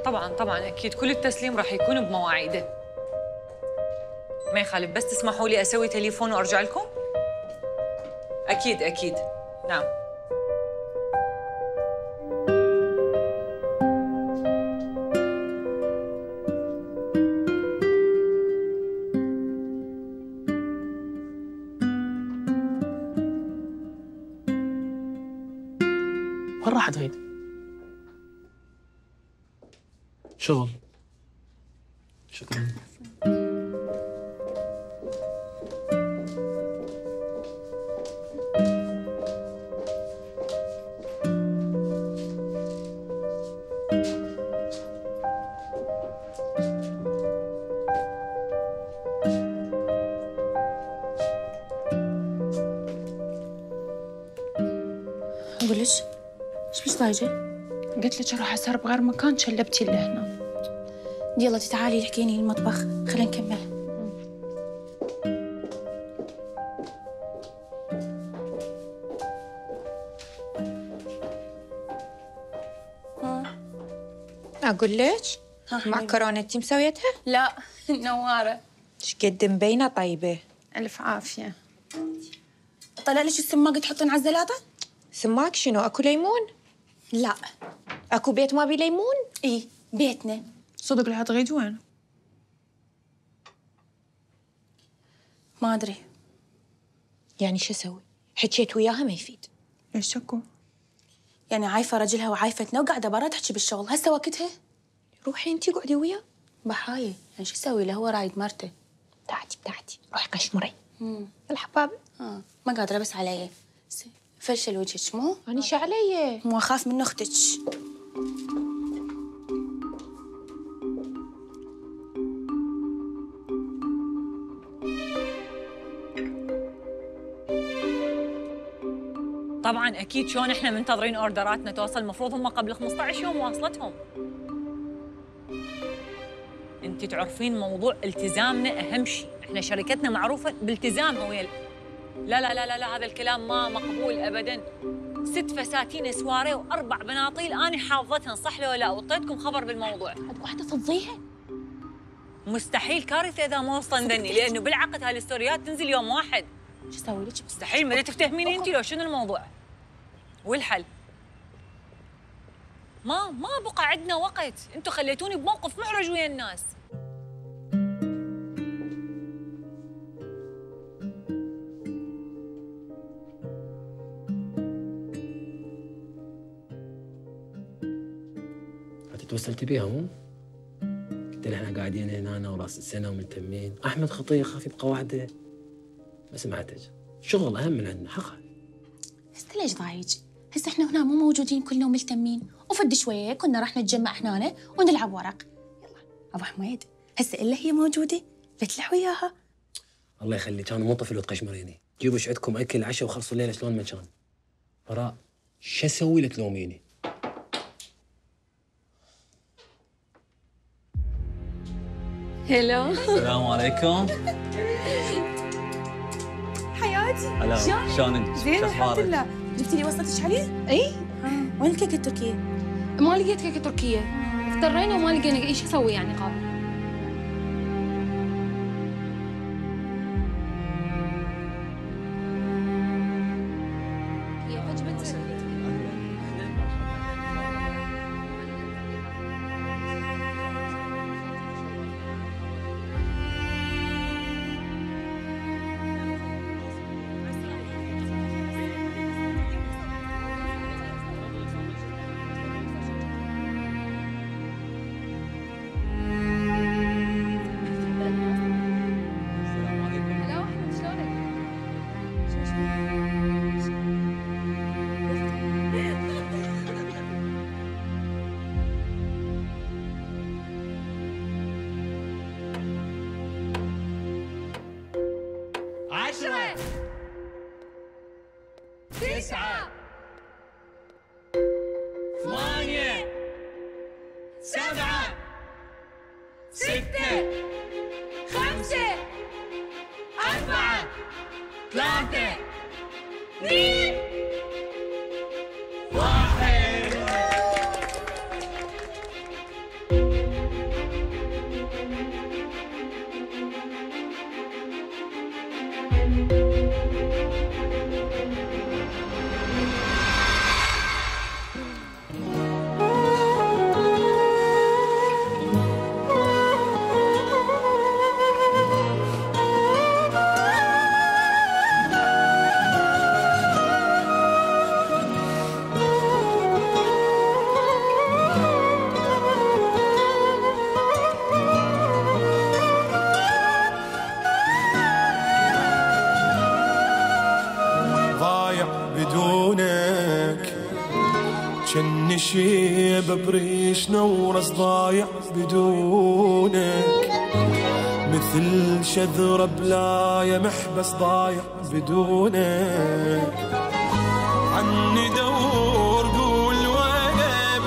طبعا طبعا اكيد كل التسليم راح يكون بمواعيده. ما يخالف، بس تسمحوا لي اسوي تليفون وارجع لكم؟ اكيد اكيد. نعم. وين راحت غيد؟ شغل. شكرا. اقول لك ايش مش ضايجه؟ قلت لك اروح اسهر بغير مكان، شلبتي اللي هنا. يلا تعالي احكيني المطبخ، خلينا نكمل. اقول لك معكرونه انتي مسويتها؟ لا نواره. ايش قد مبينه طيبه. الف عافيه. طلع لك السماق تحطين على الزلاطه؟ سماك شنو؟ اكو ليمون؟ لا. اكو بيت ما بيه ليمون؟ اي بيتنا. صدق لها تغيد وين؟ ما ادري. يعني شو اسوي؟ حكيت وياها ما يفيد. ليش اكو؟ يعني عايفه رجلها وعايفتنا وقاعده برا تحكي بالشغل، هسه وقتها؟ روحي انتي قعدي وياه. بحاية، يعني شو اسوي له؟ هو رايد مرته. بتاعتي روحي قشمري. الحباب. ما قادره بس علي. فلشل وجهك مو؟ أنا شو علي؟ مو اخاف من اختك. طبعا اكيد. شلون احنا منتظرين اوردراتنا توصل؟ المفروض هم قبل 15 يوم واصلتهم. انت تعرفين موضوع التزامنا اهم شيء، احنا شركتنا معروفه بالتزامها ويا لا لا لا لا لا، هذا الكلام ما مقبول ابدا. 6 فساتين سواري و4 بناطيل انا حافظتهن، صح لو لا؟ وطيتكم خبر بالموضوع. عاد واحده تفضيها؟ مستحيل، كارثه اذا ما وصلني، لانه بالعقد هاي الستوريات تنزل يوم واحد. شو اسوي لك؟ مستحيل. ما تفتهميني انت لو شنو الموضوع؟ والحل؟ ما بقى عندنا وقت، انتم خليتوني بموقف محرج ويا الناس. توصلتي بيها مو؟ قلت لها احنا قاعدين هنا انا وراس السنه وملتمين، احمد خطيه خاف يبقى وحده. ما سمعتك، شغل اهم من عندنا حقا. هسه ليش ضايج؟ هسه احنا هنا مو موجودين كلنا وملتمين، وفد شويه كنا راح نتجمع احنا ونلعب ورق. يلا ابو حميد، هسه الا هي موجوده لا تلح وياها. الله يخليك، انا مو طفل وتقشمريني. جيبوا ايش عندكم اكل عشاء وخلصوا الليله شلون ما كان. براء، شو اسوي لك تلوميني؟ هلو. السلام عليكم. حياتي. هلا. شلونك؟ زين الحمد لله. جبتي لي وصلتك عليه؟ اي. وين الكيكه التركيه؟ ما لقيت كيكه تركيه، اضطرينا وما لقينا ايش اسوي يعني قابل. جني شيب بريش نورس ضايع بدونك، مثل شذرة بلاية محبس ضايع بدونك. عني دور قول وين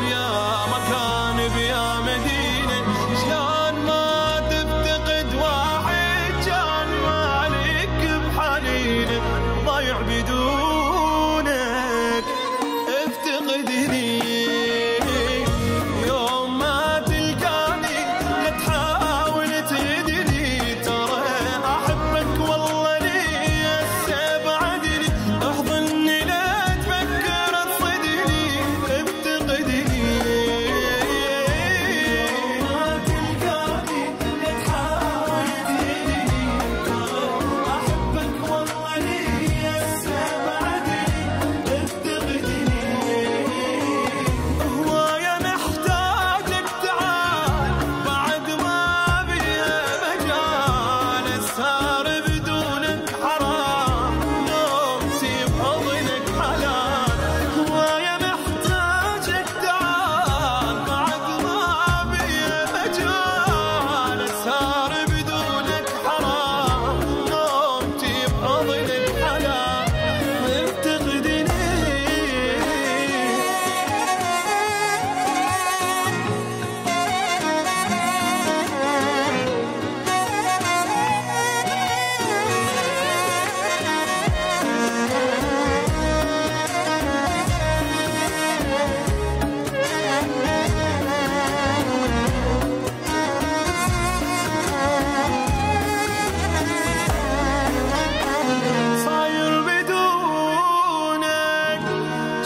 بيا مكان بيا مدينة، شلون ما تفتقد واحد كان مالك بحنينه ضايع بدونك. افتقدني يوم ما تلقاني، لا تحاول تدري ترى احبك والله لي هسه بعدني، احضني لا تفكر تصدني. افتقدني يوم ما تلقاني، لا تحاول تدري ترى احبك والله لي هسه بعدني. افتقدني هواية محتاجك تعال بعد ما بيا مجال، اسهر بدونك حرام نومتي بحضنك حلال. هواية محتاجك تعال بعد ما بيا مجال، اسهر بدونك حرام نومتي بحضنك حلال. افتقدني صاير بدونك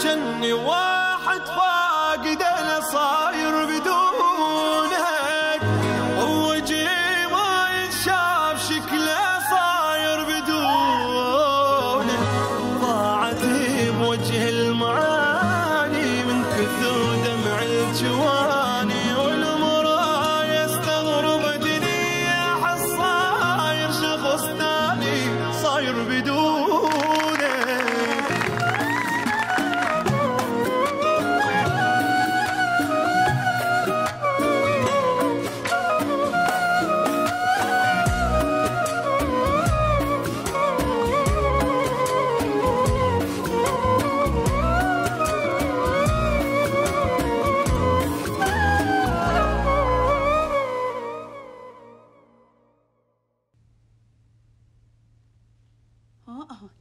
جني واحد فاقد انا، صاير بدونك ووجهي ما ينشاف شكله، صاير بدونك ضاعتي بوجه المعاني من كثر دمع الجواني، والمرايا استغرب دنيا احس صاير شخص ثاني، صاير بدونك.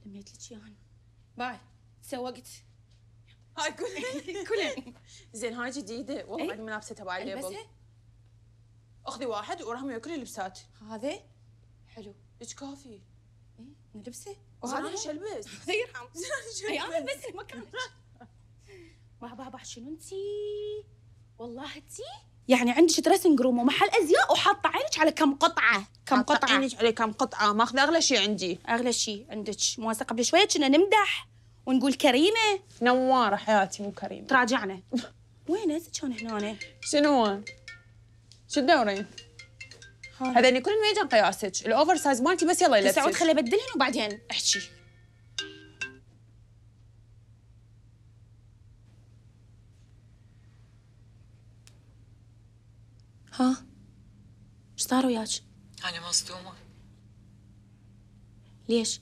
لميت لك اياهن. باي سوقت. هاي كلين زين هاي جديدة والله بعد ملابسة تبع الليبل. البسها اخذي واحد ورهمي كل اللبسات. هذا حلو. ايش كافي؟ ايه نلبسه وهذا ايش البس؟ يرحم. اي انا البسه مكانك. بابا شنو انتي؟ والله انتي يعني عندك دريسنج روم ومحل ازياء وحاطه عينك على كم قطعه. كم قطعه عينك على كم قطعة، ماخذ اغلى شيء عندي. اغلى شيء عندك. مواسقه قبل شويه كنا نمدح ونقول كريمه. نوارة حياتي مو كريمة. تراجعنا. وين هسه كان هنا؟ شنو؟ شو تدورين؟ هذني كلهم يجن قياسك، الاوفر سايز مالتي بس يلا يلبسك. سعود خلي ابدلهن وبعدين احكي. ها ايش صار وياك؟ أنا مصدومة. ليش؟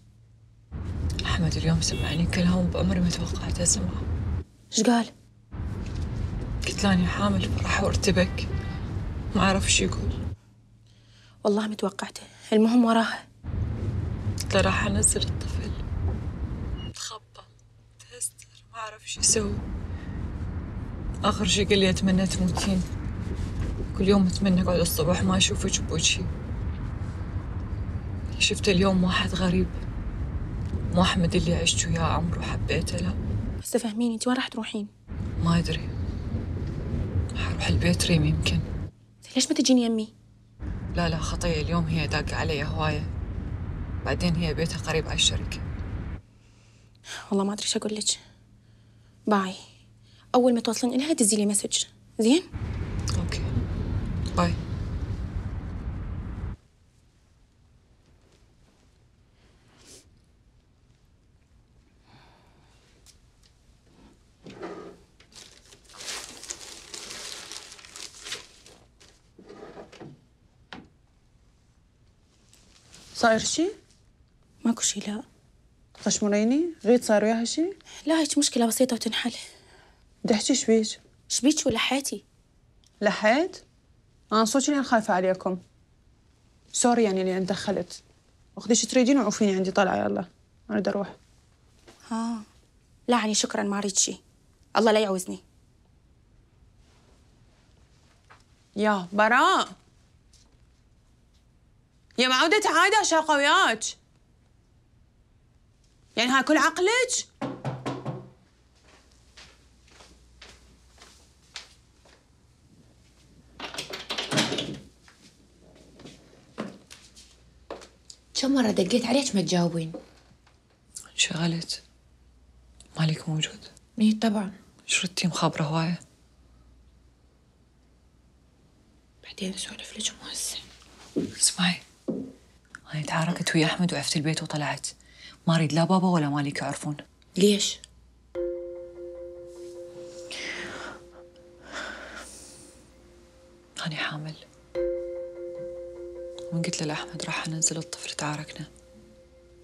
أحمد اليوم سمعني كلام بعمري ما توقعت أسمعه. ايش قال؟ قلت له أني حامل فرح وارتبك ما أعرف إيش يقول. والله متوقعته، المهم وراها. قلت له راح أنزل الطفل، تخبى تهستر ما أعرف إيش يسوي. آخر شي قال لي أتمنى تموتين، كل يوم أتمنى أقعد الصبح ما أشوفك بوجهي. شفت اليوم واحد غريب، مو أحمد اللي عشت وياه عمره وحبيته، لا. هسه فهميني انت وين راح تروحين؟ ما أدري، حروح البيت ريم يمكن. ليش ما تجين يمي؟ لا خطية، اليوم هي داقة علي هواية، بعدين هي بيتها قريب على الشركة. والله ما أدري ايش أقول لك. باي، أول ما توصلين إلها دزي لي مسج، زين؟ أوكي باي. صاير شي؟ ماكو شي لا. تشمريني؟ غيد صار وياها شي؟ لا هيك مشكلة بسيطة وتنحل. بدي احكي شبيك؟ شبيك ولا حياتي؟ لحيت؟ أنا صوتي أنا خايفة عليكم. سوري يعني اللي دخلت. وخذي شو تريدين وعوفيني عندي طلعة يلا. أريد أروح. لا عني شكرا ما أريد شي. الله لا يعوزني. يا براء. يا معودة عادة شاقة وياك. يعني هاي كل عقلك؟ كم مرة دقيت عليك ما تجاوبين؟ انشغلت. مالك موجود؟ اي طبعا. شردتي مخابرة هواية. بعدين اسولف لك مو هسه. اسمعي، أنا تعاركت ويا أحمد وعفت البيت وطلعت. ما أريد لا بابا ولا مالك يعرفون. ليش؟ أنا حامل. ومن قلت له لأحمد راح أنزل الطفل تعاركنا.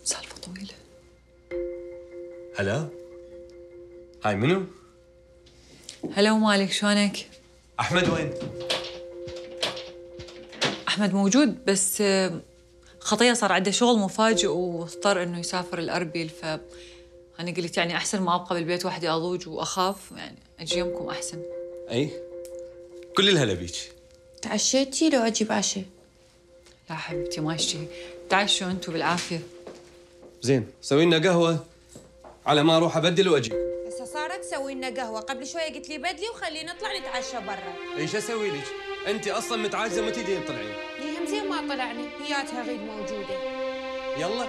سالفة طويلة. هلا. هاي منو؟ هلا ومالك شلونك؟ أحمد وين؟ أحمد موجود بس خطية صار عنده شغل مفاجئ واضطر إنه يسافر الأربيل، أنا قلت يعني أحسن ما أبقى بالبيت وحدي أضوج وأخاف، يعني أجي يمكم أحسن. أي كل الهلا بيك. تعشيتي لو أجيب عشاء؟ لا حبيبتي ما اشتهي، تعشوا أنتوا بالعافية. زين سوي لنا قهوة على ما أروح أبدل وأجي. هسه صارت تسوي لنا قهوة، قبل شوية قلت لي بدلي وخلينا نطلع نتعشى برا. إيش أسوي لك؟ أنت أصلاً متعاجزة ما تدين تطلعين. هي هم زين ما طلعنا، هياتها غيد موجودة. يلا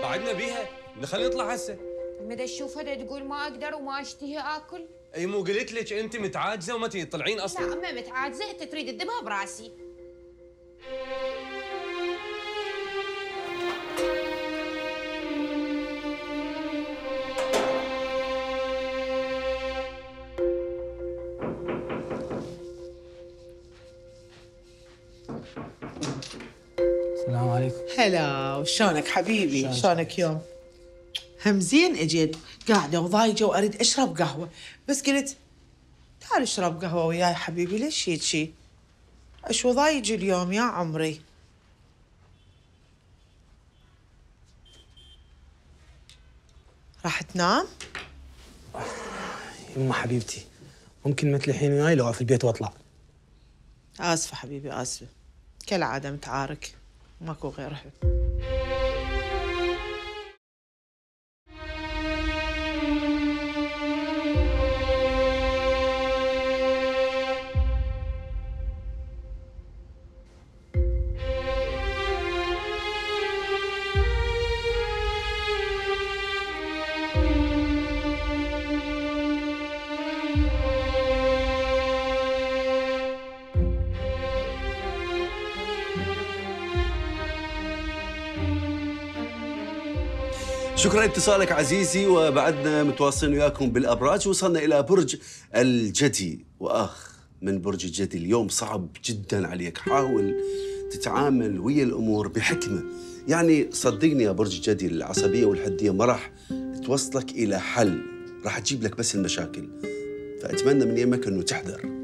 بعدنا بيها نخلي نطلع هسه. مدى تشوفها تقول ما أقدر وما أشتهي آكل؟ أي مو قلت لك أنت متعاجزة وما تدين تطلعين أصلاً. لا أما متعاجزة أنت تريد تدبها براسي. السلام عليكم. هلا وشلونك حبيبي؟ شلونك يوم؟ هم زين اجيت قاعده وضايجه واريد اشرب قهوه، بس قلت تعال اشرب قهوه وياي حبيبي. ليش هيجي؟ اشو ضايج اليوم يا عمري؟ راح تنام؟ يما حبيبتي ممكن ما تلحين وياي لو في البيت واطلع. اسفه حبيبي اسفه، كالعاده متعارك ماكو غيرها. شكرا لاتصالك عزيزي، وبعدنا متواصلين وياكم بالابراج. وصلنا الى برج الجدي، من برج الجدي اليوم صعب جدا عليك. حاول تتعامل ويا الامور بحكمه، يعني صدقني يا برج الجدي العصبيه والحديه ما راح توصلك الى حل، راح تجيب لك بس المشاكل. فاتمنى من يمك انه تحذر.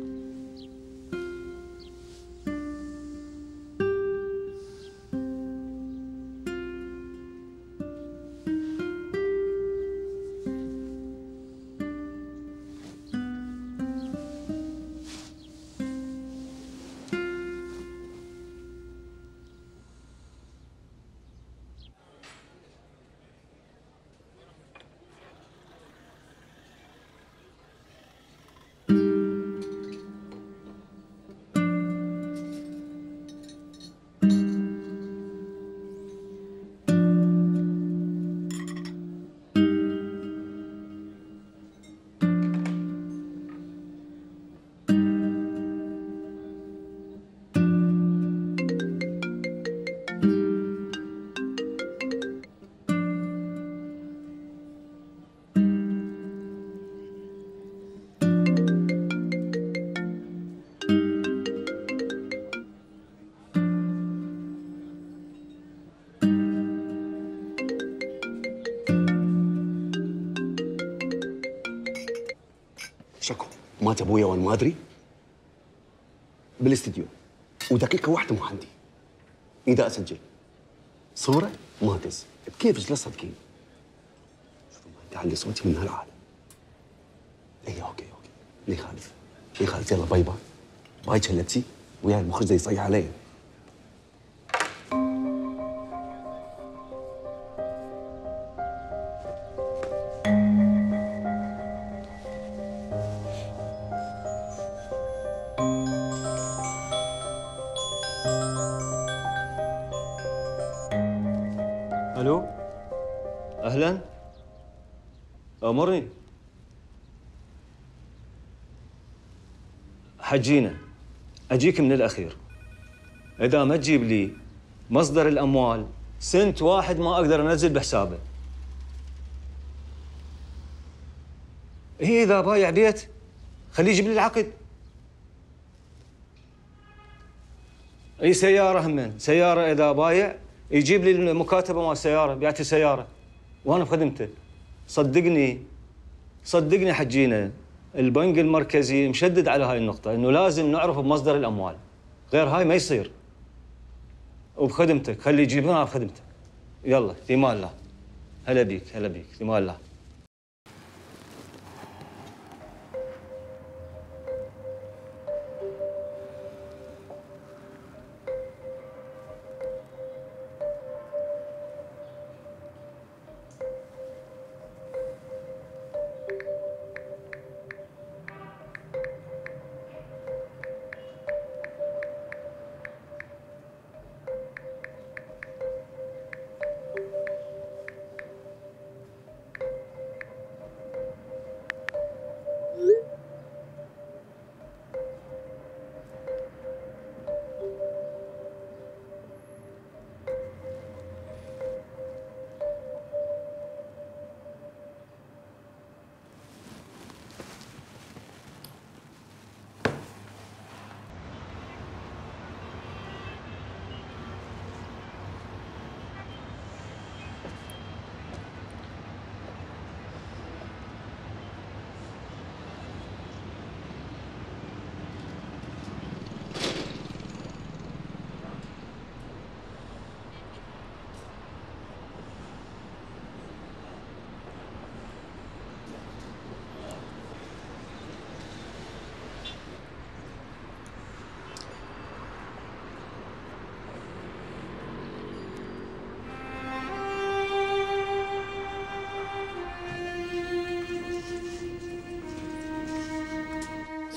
شكو مات ابويا وانا ما ادري بالاستديو، ودقيقه واحده مو عندي. اذا اسجل صوره ما دز بكيفك لا تصدقين. شوفوا ما تعلي صوتي من هالعالم. اي اوكي ما يخالف ما يخالف. يلا باي باي باي شلتي ويا المخرج يصيح علي. الو اهلا امرني. حجينا اجيك من الاخير. اذا ما تجيب لي مصدر الاموال سنت واحد ما اقدر انزل بحسابه. هي اذا بايع بيت خليه يجيب لي العقد. اي سياره همين، سياره اذا بايع يجيب لي المكاتبه مال السياره، بيعتي سياره وانا بخدمته. صدقني حجينا البنك المركزي مشدد على هاي النقطه، انه لازم نعرف بمصدر الاموال، غير هاي ما يصير. وبخدمتك خلي يجيبونها بخدمتك. يلا في مال الله. هلا بيك في مال الله.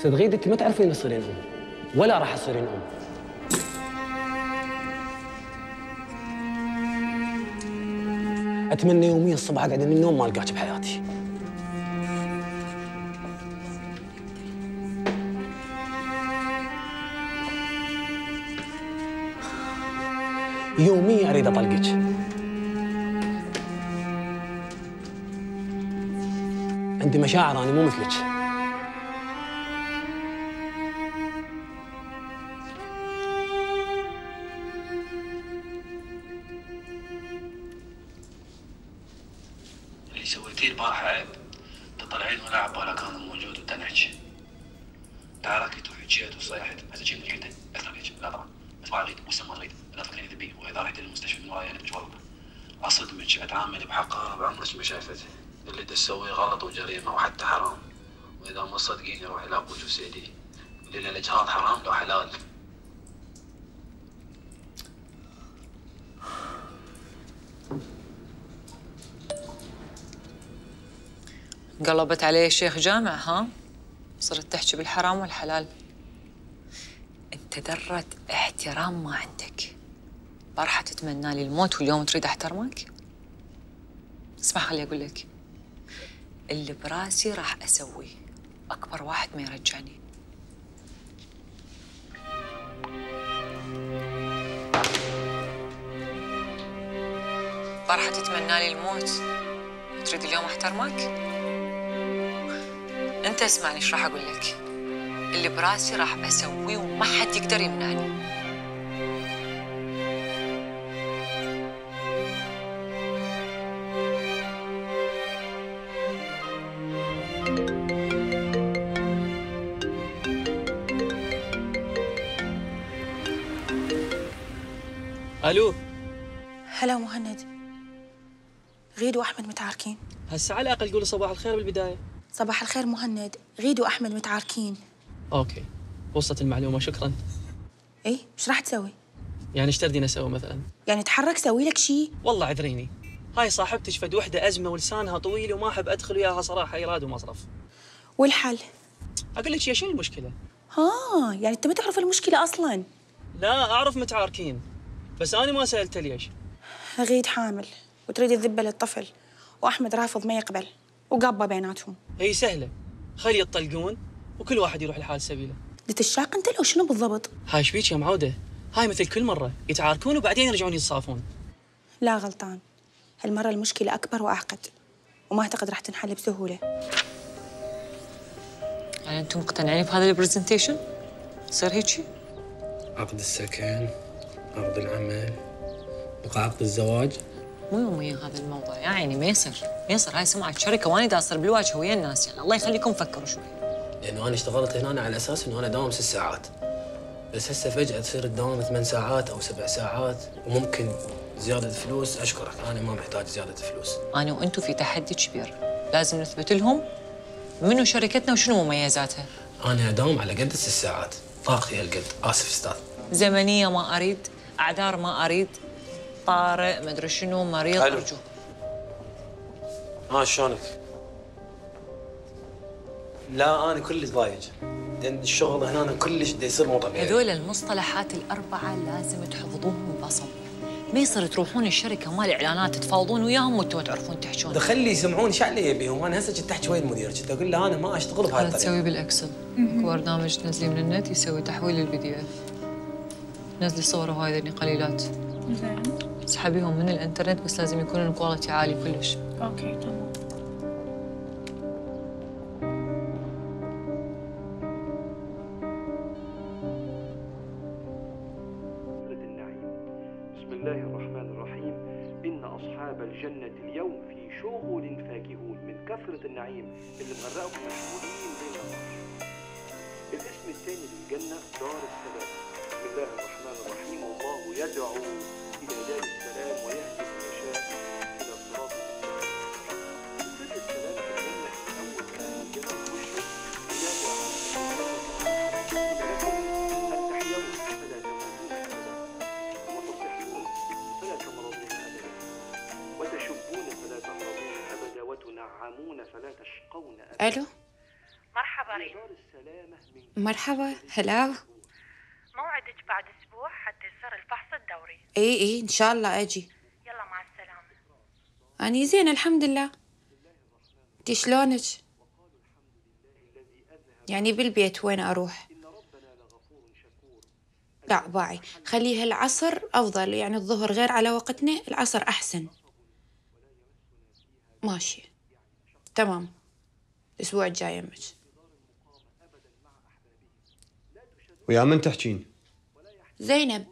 صدقيني انت ما تعرفين تصيرين ام ولا راح تصيرين ام. اتمنى يوميا الصبح اقعد من النوم ما القاك بحياتي. يوميا اريد اطلقك. عندي مشاعر انا مو مثلك. اللي سويتيه البارحة عيب. تطلعين ولا عبالك انا موجود وتنحكي. تعاركت وحكيت وصيحت، هسه شي من جهته اكثر هيك، لا طبعا، بس ما اريد وهسه ما اريد، لا تفكرين ذبي، واذا رحت للمستشفى من وراي انا بجوابك. اصدمك، اتعامل بحقها بعمرك ما شايفته، اللي تسويه غلط وجريمه وحتى حرام، واذا ما تصدقيني روحي لابوك وسيدي، قولي له الاجهاض حرام لو حلال. قلبت عليه شيخ جامع ها؟ صرت تحكي بالحرام والحلال. انت ذرة احترام ما عندك. بارحة تتمنى لي الموت واليوم تريد احترمك؟ اسمع خلي اقول لك، اللي براسي راح اسويه، اكبر واحد ما يرجعني. بارحة تتمنى لي الموت تريد اليوم احترمك؟ انت اسمعني ايش راح اقول لك. اللي براسي راح اسويه وما حد يقدر يمنعني. الو. هلا مهند. غيد واحمد متعاركين. هسه على الاقل قولي صباح الخير بالبدايه. صباح الخير مهند، غيد واحمد متعاركين. اوكي، وصلت المعلومه، شكرا. ايه، ايش راح تسوي؟ يعني ايش تردين اسوي مثلا؟ يعني تحرك سوي لك شيء؟ والله عذريني، هاي صاحبتك فد وحده ازمه ولسانها طويل وما احب ادخل وياها صراحه ايراد ومصرف. والحل؟ اقول لك يا شنو المشكله؟ يعني انت ما تعرف المشكله اصلا؟ لا اعرف متعاركين، بس انا ما سالته ليش. غيد حامل وتريد تذبه للطفل، واحمد رافض ما يقبل، وقابه بيناتهم. هي سهله، خلي يطلقون وكل واحد يروح لحال سبيله. تتشاق انت لو شنو بالضبط؟ هاي ايش بيك يا معوده؟ هاي مثل كل مره يتعاركون وبعدين يرجعون يتصافون. لا غلطان، هالمره المشكله اكبر واعقد، وما اعتقد راح تنحل بسهوله. يعني انتم مقتنعين بهذا البرزنتيشن؟ يصير هيك؟ عقد السكن، عقد العمل، بقى عقد الزواج. مو يوميا هذا الموضوع يا عيني، ما يصير، ما يصير. هاي سمعة شركة واني دا اصير بالواجهة ويا الناس، يعني الله يخليكم فكروا شوي. لأنه أنا اشتغلت هنا على أساس إنه أنا داوم 6 ساعات، بس هسه فجأة تصير تداوم 8 ساعات أو 7 ساعات، وممكن زيادة فلوس. أشكرك، أنا ما محتاج زيادة فلوس. أنا وأنتم في تحدي كبير، لازم نثبت لهم منو شركتنا وشنو مميزاتها. أنا أداوم على قد 6 ساعات، طاقتي هالقد. آسف أستاذ. زمنية ما أريد، أعذار ما أريد، طارئ مدري شنو، مريض، أرجو. شلونك؟ لا أنا كلش ضايج، لأن الشغل هنا كلش دا يصير مو طبيعي. هذول المصطلحات الأربعة لازم تحفظوهم بصم. ما يصير تروحون الشركة مال إعلانات تفاوضون وياهم وانتم تعرفون تحجون. خلي يسمعون ايش علي بيهم. أنا هسه كنت أحكي ويا المدير، كنت أقول له أنا ما أشتغل بهاي الطريقة. تسوي بالإكسل، اكو برنامج تنزليه من النت يسوي تحويل للبي دي اف. نزلي صور وهاي ذني قليلات. زين. اسحبيهم من الانترنت، بس لازم يكون الكواليتي عالي كلش. اوكي تمام. بسم الله الرحمن الرحيم. إن أصحاب الجنة اليوم في شغل فاكهون من كثرة النعيم اللي مغرقهم مشغولين بين النار. الاسم الثاني للجنة دار السلام. بسم الله الرحمن الرحيم. والله يدعو إلى دار السلام ويهدي من يشاء إلى صراط المستقيم. سر السلام في الجنة أول ما الجنة تشرق ينادي لكم أن تحيون فلا تموتون أبدا، وتصحون فلا تمرضون أبدا، وتشبون فلا تمرضون أبدا، وتنعمون فلا تشقون أبدا. الو. مرحبا ريم. مرحبا. هلا. موعدك بعد اسبوع حتى يصير الفحص الدوري. اي ان شاء الله اجي. يلا مع السلامه. اني زين الحمد لله. انتي شلونك؟ يعني بالبيت وين اروح؟ لا باعي، خليها العصر افضل، يعني الظهر غير على وقتنا، العصر احسن. ماشي تمام، الاسبوع الجاي يمك. ويا من تحكين؟ زينب.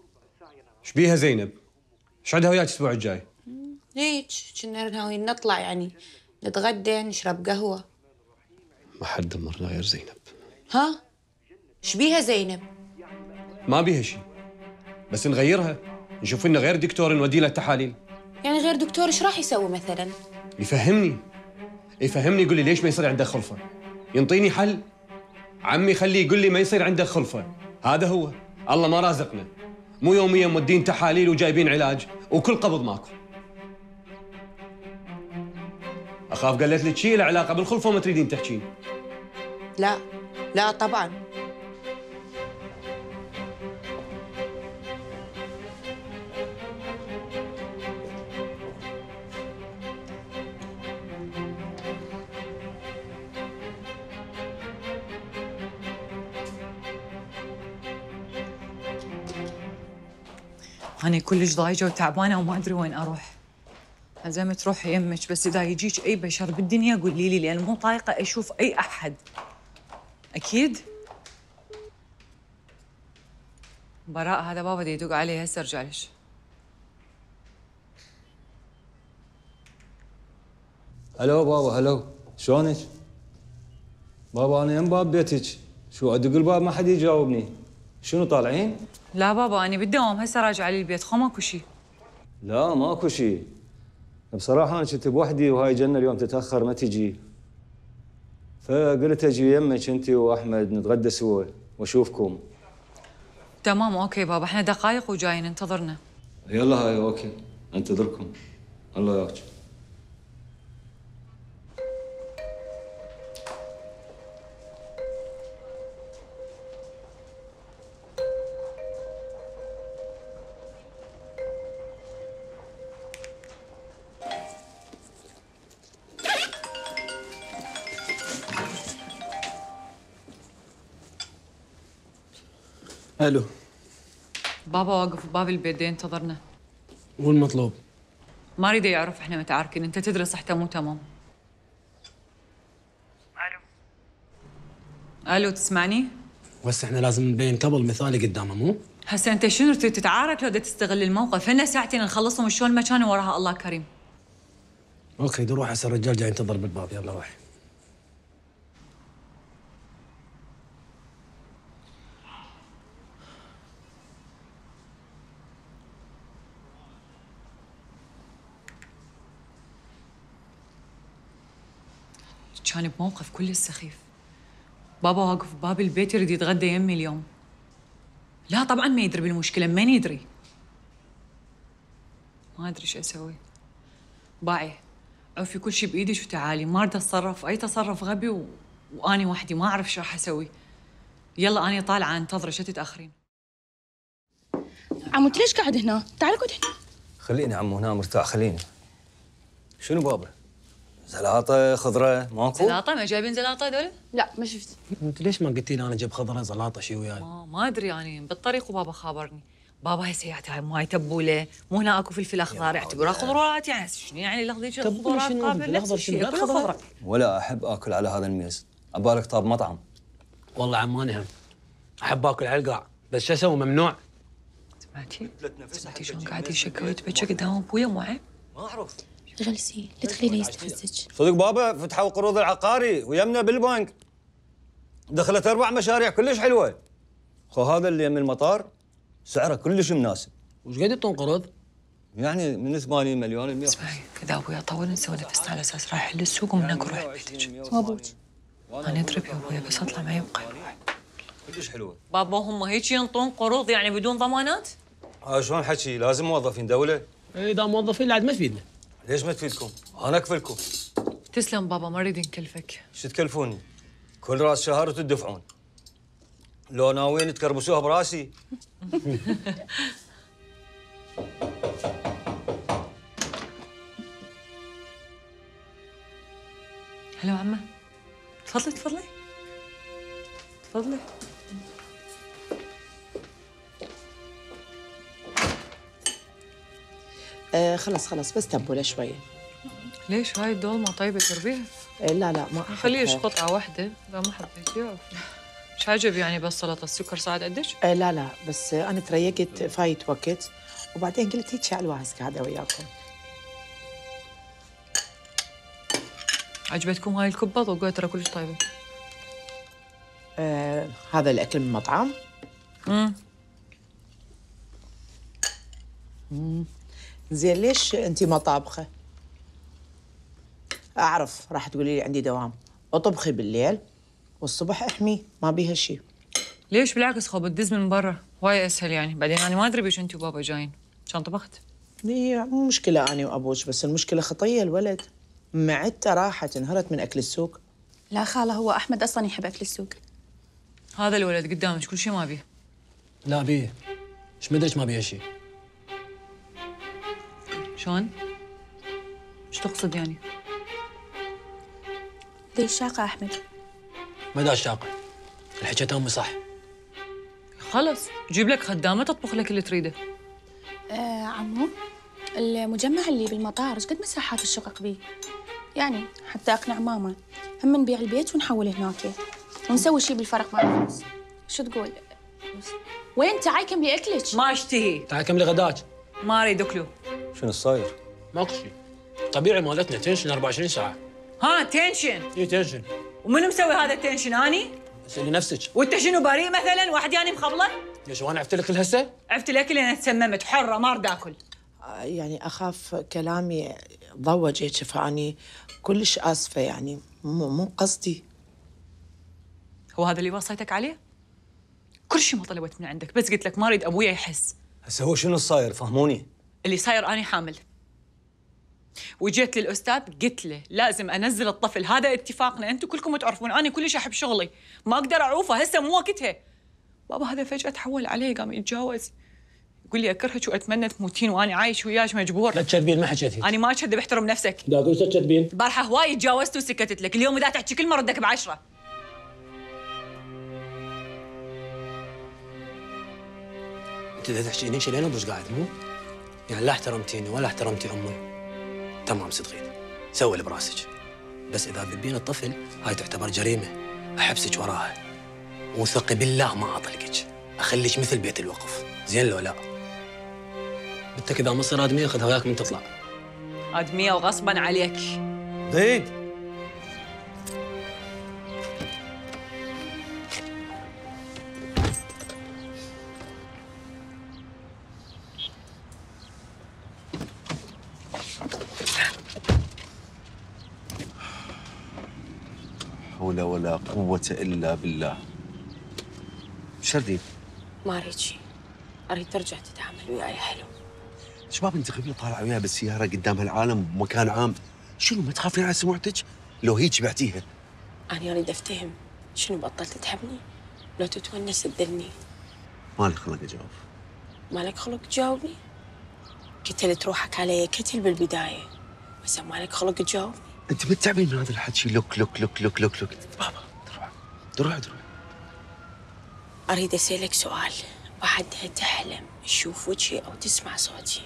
ايش بيها زينب؟ ايش عندها وياك الاسبوع الجاي؟ هيك كنا ناويين نطلع، يعني نتغدى نشرب قهوة. ما حد دمرنا غير زينب. ها؟ ايش بيها زينب؟ ما بيها شيء، بس نغيرها، نشوف لنا غير دكتور نودي له التحاليل. يعني غير دكتور ايش راح يسوي مثلا؟ يفهمني يقول لي ليش ما يصير عنده خلفة، ينطيني حل. عمي خليه يقول لي ما يصير عنده خلفة، هذا هو. الله ما رازقنا، مو يوميا مودين تحاليل وجايبين علاج وكل قبض ماكو. اخاف قالت لك شيء له علاقه بالخلفه وما تريدين تحكين. لا لا طبعا. أنا كلش ضايجة وتعبانة وما أدري وين أروح. عزمت روحي يمك، بس إذا يجيك أي بشر بالدنيا قولي لي، لأن مو طايقة أشوف أي أحد. أكيد؟ براء هذا بابا دي يدق علي، هسه أرجع لش. هلو بابا، هلو، شلونك؟ بابا أنا يم باب بيتك، شو أدق الباب ما حد يجاوبني. شنو طالعين؟ لا بابا أنا بالدوام هسه راجعة للبيت، خو ماكو شيء. لا ماكو شيء. بصراحة أنا كنت بوحدي وهاي جنة اليوم تتأخر ما تجي. فقلت أجي يمك أنت وأحمد نتغدى سوا وأشوفكم. تمام أوكي بابا، إحنا دقايق وجايين انتظرنا. يلا هاي أوكي، أنتظركم. الله ياك. الو بابا واقف بباب البيت دي ينتظرنا. والمطلوب؟ ما اريد يعرف احنا متعاركين، انت تدري صحته مو تمام. الو تسمعني؟ بس احنا لازم نبين قبل مثالي قدامه مو؟ هسه انت شنو تريد تتعارك لو تستغل الموقف؟ هنا ساعتين نخلصهم شلون ما كانوا وراها الله كريم. اوكي روح هسه الرجال جاي ينتظر بالباب، يلا روح. كان بموقف كلش سخيف. بابا واقف بباب البيت يريد يتغدى يمي اليوم. لا طبعا ما يدري بالمشكلة، من يدري؟ ما ادري شو اسوي. باعي عوفي كل شيء بايدك وتعالي، ما اريد اتصرف اي تصرف غبي واني وحدي ما اعرف شو راح اسوي. يلا اني طالعه انتظرك، شو تتاخرين؟ عمو انت ليش قاعد هنا؟ تعال اقعد هنا. خليني عمو هنا مرتاح، خليني. شنو بابا؟ زلاطة خضرة ماكو؟ زلاطة؟ ما جايبين زلاطة هذول؟ لا ما شفت. انت ليش ما قلتي لي انا جيب خضره زلاطه شي وياي؟ ما ادري يعني بالطريق وبابا خابرني. بابا هسه يعطي هاي ماي تبوله، مو هنا اكو فلفل اخضر يعتبرها خضروات يعني شنو يعني الاخضر خضروات قابل نفس الشيء كلها خضره. ولا احب اكل على هذا الميز، ابالك طاب مطعم. والله عماني هم احب اكل على القاع، بس شو اسوي ممنوع. سمعتي شلون قاعد يشكى ويتبكى قدام ابويا مو عيب؟ ما اعرف. جلسي لا تخلينه يستفزك. صدق بابا فتحوا قروض العقاري ويمنا بالبنك. دخلت 4 مشاريع كلش حلوه. خو هذا اللي يم المطار سعره كلش مناسب. وش قد يعطون قروض؟ يعني من 80 مليون ل 100. اسمعي كذا ابويا طول نسوي نفسنا على اساس رايح للسوق ومن هناك نروح بيتك. ما ابوك. انا ادري يا ابويا بس اطلع معي يبقى. كلش حلوه. بابا هم هيك ينطون قروض يعني بدون ضمانات؟ شلون حكي؟ لازم موظفين دوله. اذا موظفين لا عاد ما تفيدنا. ليش ما تفيدكم؟ انا اكفلكم. تسلم بابا ما اريد نكلفك. شو تكلفوني؟ كل راس شهر وتدفعون. لو ناويين تكربسوها براسي. هلا عمه. تفضلي تفضلي. تفضلي. خلص بس تبوله شويه. ليش هاي الدولمه طيبه تربيها؟ لا ما خليه قطعه واحده اذا ما حبيتيها. مش عجب يعني بس سلطه السكر صعد قدك؟ لا بس انا تريقت فايت وقت وبعدين قلت هيك على الواهس قاعده وياكم. عجبتكم هاي الكبه؟ ذوقوها ترى كلش طيبه. هذا الاكل من مطعم؟ زين ليش انت ما طابخه؟ اعرف راح تقولي لي عندي دوام، اطبخي بالليل والصبح احمي ما بيها شيء. ليش بالعكس خو بتدز من برا وايد اسهل يعني، بعدين انا ما ادري بيش انت وبابا جايين، كان طبخت. هي مو مشكله انا وابوش، بس المشكله خطيه الولد، معدته راحت انهرت من اكل السوق. لا خاله هو احمد اصلا يحب اكل السوق. هذا الولد قدامك كل شيء ما بيه. لا بيه. ايش مدري ما بيه شيء. شلون؟ ايش تقصد يعني؟ ليش شاقه احمد؟ ما داش شاقه. الحكيت امي صح. خلص جيب لك خدامه تطبخ لك اللي تريده. عمو المجمع اللي بالمطار ايش قد مساحات الشقق بيه؟ يعني حتى اقنع ماما هم نبيع البيت ونحول هناك ونسوي شيء بالفرق مع الفلوس. شو تقول؟ وين تعال كملي اكلك؟ ما اشتهي. تعال كملي غداك. ما اريد اكله. شنو صاير؟ ماكو شيء. طبيعي مالتنا تنشن 24 ساعه. ها تنشن؟ اي تنشن. ومن مسوي هذا التنشن اني؟ اسالي نفسك. وانت شنو بريء مثلا؟ واحد يعني مخبله؟ ليش وانا عفت لك الهسه؟ عفت لك لان تسممت حره ما اريد اكل. يعني اخاف كلامي ضوج هيك، فاني كلش اسفه يعني مو قصدي. هو هذا اللي وصيتك عليه؟ كل شيء ما طلبت من عندك، بس قلت لك ما اريد ابويا يحس. هسه هو شنو صاير؟ فهموني. اللي صاير اني حامل. وجيت للاستاذ قلت له لازم انزل الطفل، هذا اتفاقنا، انتم كلكم تعرفون انا كلش احب شغلي، ما اقدر اعوفه، هسه مو وقتها. بابا هذا فجاه تحول علي، قام يتجاوز، يقول لي اكرهك واتمنى تموتين وانا عايش وياك مجبور. لا تكذبين، ما حكيتي. انا ما اكذب، احترم نفسك. لا اقول تكذبين. البارحه هواي تجاوزت وسكتت لك، اليوم اذا تحكي كلمه ردك ب10. انت اذا تحكيني شيء انا بوش قاعد مو؟ يعني لا احترمتيني ولا احترمتي امي. تمام صدقين، سوي اللي براسك. بس اذا تذبين الطفل هاي تعتبر جريمه، احبسك وراها. وثقي بالله ما اطلقك، اخليك مثل بيت الوقف، زين لو لا؟ بنتك اذا مصير ادميه خذها وياك من تطلع. ادميه وغصبا عليك. زيد حول ولا قوة إلا بالله. شردين؟ ما اريد شيء، اريد ترجع تتعامل وياي حلو. شباب انت غبيه طالعه وياها بالسياره قدام هالعالم بمكان عام، شنو ما تخافين على سمعتك؟ لو هيك بعتيها. انا اريد افتهم، شنو بطلت تحبني؟ لو تتونس تذلني. مالك خلق اجاوب. مالك خلق تجاوبني؟ قتلت روحك علي كتل بالبدايه، بس مالك خلق تجاوبني. انت متعبين من هذا الحكي؟ لوك لوك لوك لوك لوك لوك. بابا تروح. اريد اسالك سؤال، بعدها تحلم تشوف وجهي او تسمع صوتي،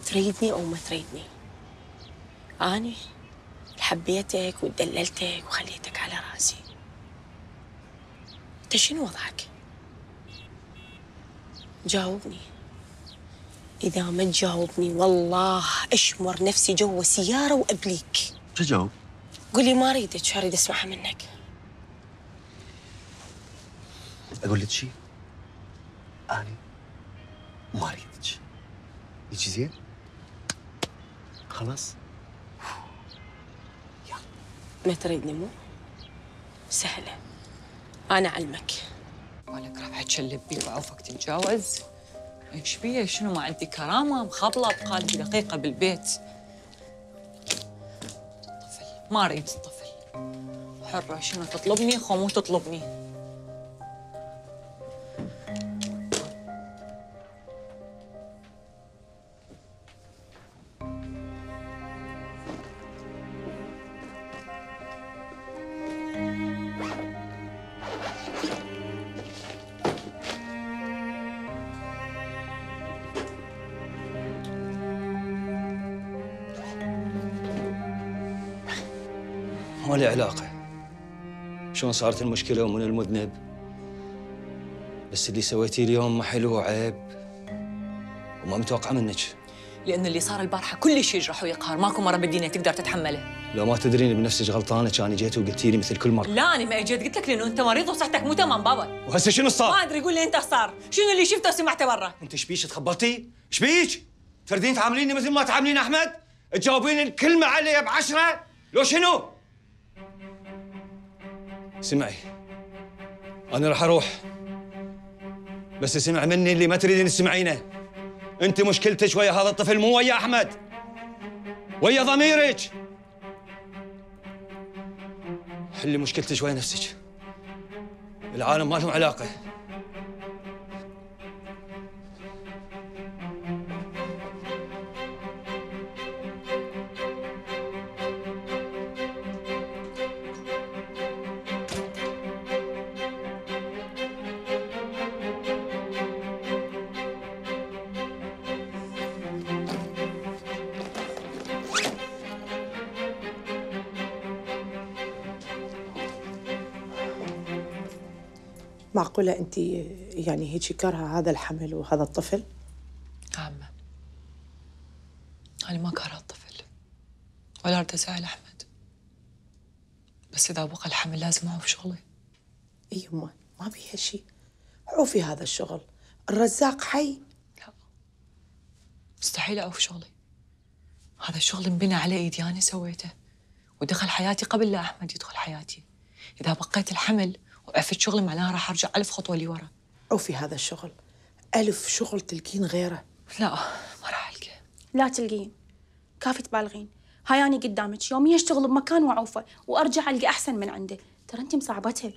تريدني او ما تريدني؟ اني حبيتك ودللتك وخليتك على راسي، انت شنو وضعك؟ جاوبني. اذا ما تجاوبني والله اشمر نفسي جوا سياره وابليك. شو جاوب؟ قولي ما اريدك، اريد اسمعها منك. اقول لك شيء؟ اني ما اريدك. يجي زين؟ خلاص؟ ما تريدني مو؟ سهله، انا اعلمك. مالك راح تشلب وعوفك تتجاوز؟ ايش بيه؟ شنو ما عندي كرامه؟ مخبله بقالب دقيقه بالبيت. طفل ما اريد الطفل، حره، شنو تطلبني خو مو تطلبني. ما لي علاقة شلون صارت المشكلة ومن المذنب، بس اللي سويتيه اليوم ما حلو وعيب وما متوقعة منك. لأن اللي صار البارحة كلش يجرح ويقهر، ماكو مرة بالدنيا تقدر تتحمله. لو ما تدرين بنفسك غلطانة كان جيت وقلتي لي مثل كل مرة. لا أنا ما اجيت قلت لك لأنه أنت مريض وصحتك مو تمام بابا. وهسه شنو صار؟ ما أدري، قول لي أنت صار، شنو اللي شفته وسمعته برا؟ أنت ايش بيك تخبلتي؟ ايش بيك؟ تردين تعامليني مثل ما تعاملين أحمد؟ تجاوبين الكلمة علي ب10؟ لو شنو؟ اسمعي، أنا راح أروح، بس اسمع مني اللي ما تريدين تسمعينه. أنت مشكلتك ويا هذا الطفل مو ويا أحمد، ويا ضميرك. حلي مشكلتك ويا نفسك، العالم ما لهم علاقة. معقولة أنت يعني هيك كارهة هذا الحمل وهذا الطفل؟ عمة أنا ما كارهة الطفل ولا أريد أزعل أحمد، بس إذا بقى الحمل لازم أعوف شغلي. يمه ما بيها شيء، عوفي هذا الشغل، الرزاق حي. مستحيل أعوف شغلي. هذا الشغل انبنى على إيدي، أنا سويته ودخل حياتي قبل لا أحمد يدخل حياتي. إذا بقيت الحمل وعفت شغلي معناها راح أرجع 1000 خطوة لورا. عوفي هذا الشغل، 1000 شغل تلقين غيره. لا ما راح ألقى. لا تلقين، كافي تبالغين. هاي أنا قدامك يوميا أشتغل بمكان وأعوفه وأرجع ألقى أحسن من عنده. ترى أنت مصعبتها.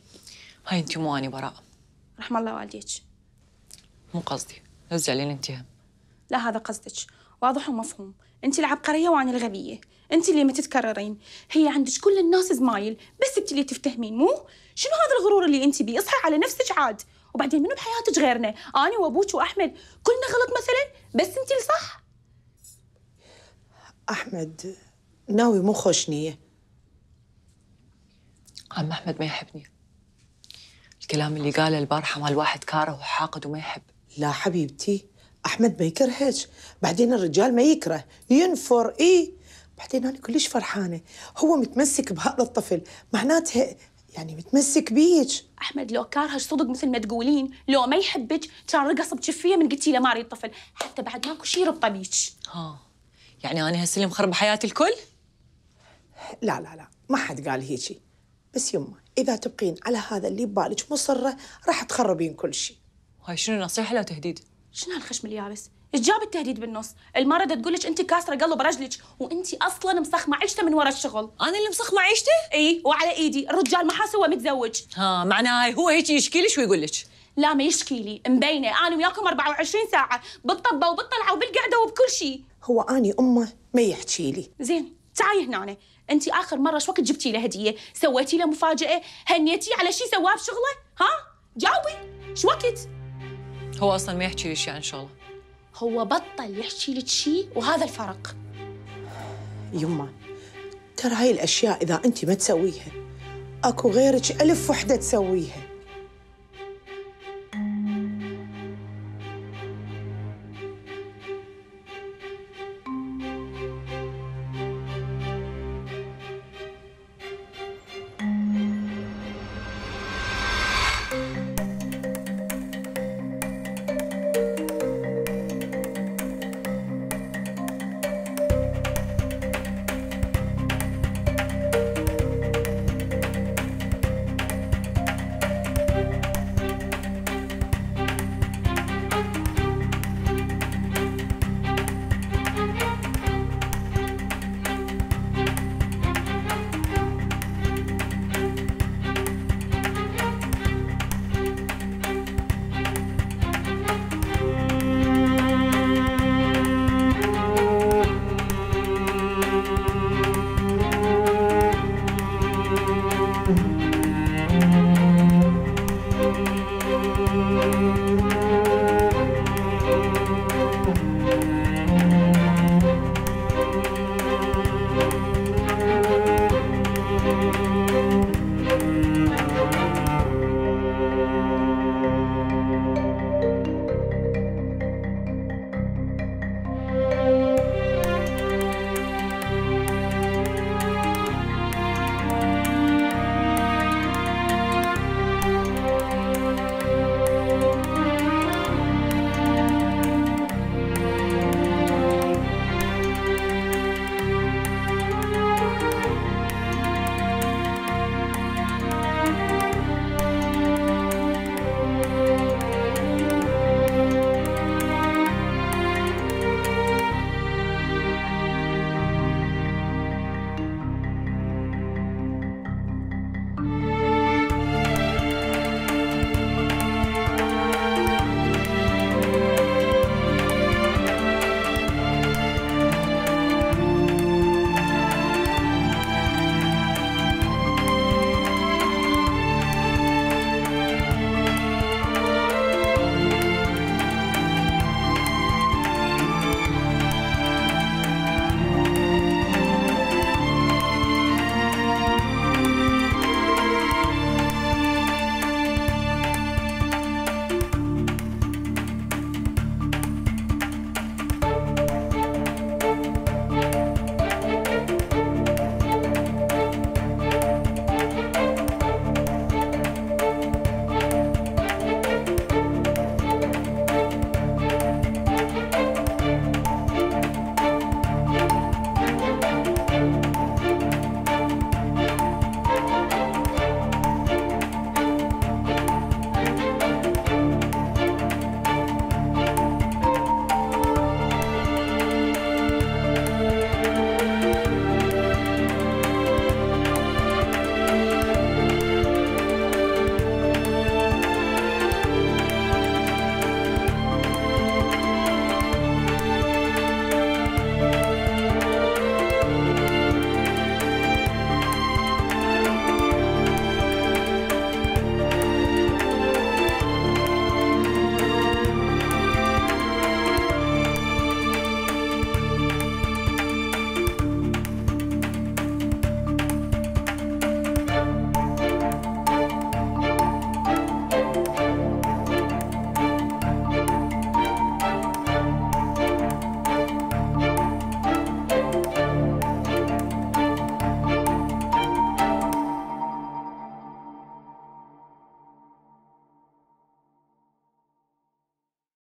هاي أنت مو أنا براء. رحم الله والديك. مو قصدي، لا تزعلين أنت هم. لا هذا قصدك، واضح ومفهوم. أنت العبقرية وأنا الغبية. أنت اللي ما تتكررين. هي عندك كل الناس زمايل، بس أنت اللي تفتهمين مو؟ شنو هذا الغرور اللي أنت بيه؟ اصحي على نفسك عاد. وبعدين منو بحياتك غيرنا؟ أنا وأبوك وأحمد كلنا غلط مثلا، بس أنت الصح. أحمد ناوي مو خوش نية. عم أحمد ما يحبني. الكلام اللي قاله البارحة مال واحد كاره وحاقد وما يحب. لا حبيبتي، أحمد ما يكرهك، بعدين الرجال ما يكره، ينفر. بعدين أنا كلش فرحانة، هو متمسك بهذا الطفل، معناتها يعني متمسك بيك. أحمد لو كارهك صدق مثل ما تقولين، لو ما يحبك كان رقص بجفية من قلتي له ما اريد طفل، حتى بعد ماكو شي يربطه بيك. ها يعني أنا هسه اللي مخربة حياة الكل؟ لا ما حد قال هيجي، بس يمه إذا تبقين على هذا اللي ببالك مصرة راح تخربين كل شيء. هاي شنو نصيحة لو تهديد؟ شنو هالخشم اليابس؟ ايش جاب التهديد بالنص؟ المرة تقول لك انت كاسرة قلب رجلك، وانت اصلا مسخمة عيشته من ورا الشغل. انا اللي مسخمة عيشته؟ اي وعلى ايدي، الرجال ما حاسه هو متزوج. ها معناها هو هيك يشكي لك ويقول لك؟ لا ما يشكي لي، مبينه انا وياكم 24 ساعة بالطبة وبالطلعة وبالقعدة وبكل شيء. هو اني امه ما يحكي لي. زين تعالي هنا، انت اخر مرة شو وقت جبتي له هدية؟ سويتي له مفاجأة؟ هنيتيه على شيء سواه بشغله؟ ها؟ جاوبي، شو وقت؟ هو اصلا ما يحكي لي شيء عن شغله. هو بطل يحكي لك شيء وهذا الفرق. يمه ترى هاي الاشياء اذا انت ما تسويها اكو غيرك 1000 وحده تسويها.